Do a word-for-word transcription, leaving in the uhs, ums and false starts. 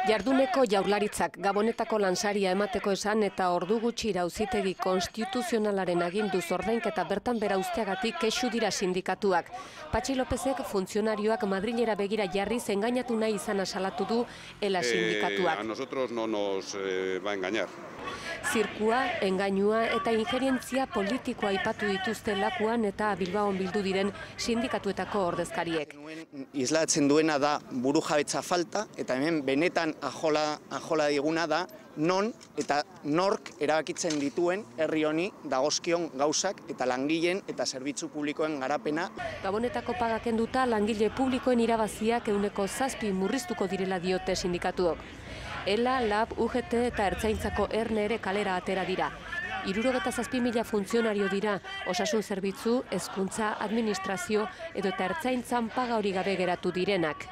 Jarduneko Jaurlaritzak Gabonetako lansaria emateko esan eta ordu gutxira auzitegi konstituzionalaren aginduz ordainketa bertan bera uzteagatik kexu dira sindikatuak. Patxi Lopezek funtzionarioak Madrilera begira jarriz engainatu nahi izana salatu du ela sindikatuak. Eh, a nosotros no nos eh, va a engañar. Zirkua, engainua eta ingerientzia politikoa aipatu dituzte Lakuan eta Bilbaon bildu diren sindikatuetako ordezkariek. Islatzen duena da burujabetza falta eta hemen benetan ajola, ajola diguna da non eta nork erabakitzen dituen herri honi dagozkion gauzak eta langileen eta zerbitzu publikoen garapena. Gabonetako pagak kenduta langile publikoen irabaziak ehuneko zazpi murriztuko direla diote sindikatuok. Ela, Lab, U G T eta Ertzaintzako Erne ere kalera atera dira. Hirurogeta zazpi mila funtzionario dira, osasun zerbitzu, hezkuntza, administrazio edo eta ertzaintzan paga hori gabe geratu direnak.